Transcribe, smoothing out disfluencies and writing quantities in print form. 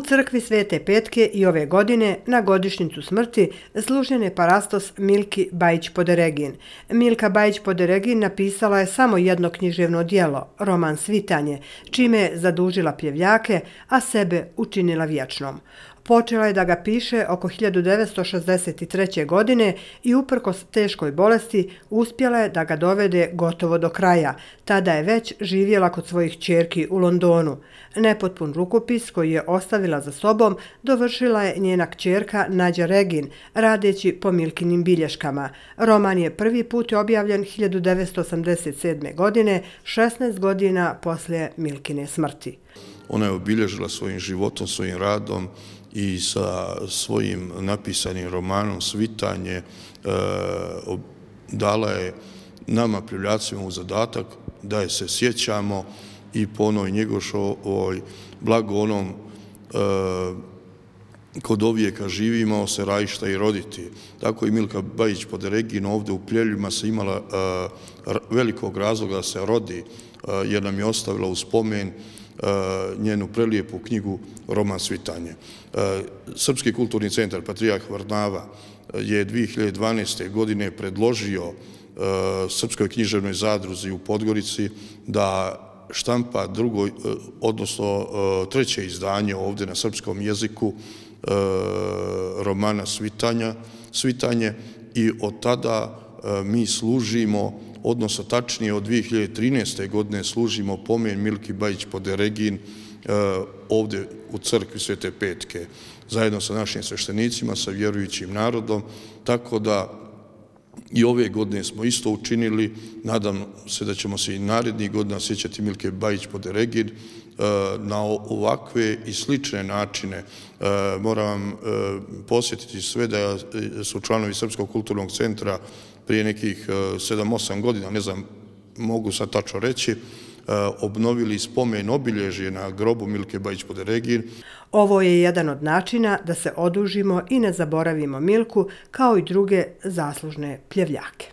U crkvi Svete Petke i ove godine na godišnjicu smrti služen je parastos Milki Bajić-Poderegin. Milka Bajić-Poderegin napisala je samo jedno književno djelo, roman Svitanje, čime je zadužila pljevljake, a sebe učinila vječnom. Počela je da ga piše oko 1963. godine i uprkos teškoj bolesti uspjela je da ga dovede gotovo do kraja. Tada je već živjela kod svojih ćerki u Londonu. Nepotpun rukopis koji je ostavila za sobom dovršila je njena kćerka Nađa Regin, radeći po Milkinim bilješkama. Roman je prvi put objavljen 1987. godine, 16 godina poslije Milkine smrti. Ona je obilježila svojim životom, svojim radom i sa svojim napisanim romanom Svitanje dala je nama pljevljacima u zadatak da je se sjećamo i po onoj Njegošovoj blago onom kod ovijeka živimo se rajišta i roditi. Tako i Milka Bajić-Poderegin ovdje u Pljeljima se imala velikog razloga da se rodi, jer nam je ostavila u spomen njenu prelijepu knjigu roman Svitanje. Srpski kulturni centar Patrijarh Varnava je 2012. godine predložio Srpskoj književnoj zadruzi u Podgorici da štampa treće izdanje ovdje na srpskom jeziku romana Svitanje i od tada mi služimo, odnosno tačnije od 2013. godine služimo pomen Milki Bajić-Poderegin ovdje u crkvi Svete Petke, zajedno sa našim sveštenicima, sa vjerujućim narodom, tako da i ove godine smo isto učinili. Nadam se da ćemo se i narednih godina sjećati Milke Bajić-Poderegin na ovakve i slične načine. Moram vam posjetiti sve da su članovi Srpskog kulturnog centra prije nekih 7-8 godina, ne znam, mogu sad tačno reći, obnovili spomen obilježje na grobu Milke Bajić-Poderegin. Ovo je jedan od načina da se odužimo i ne zaboravimo Milku kao i druge zaslužne pljevljake.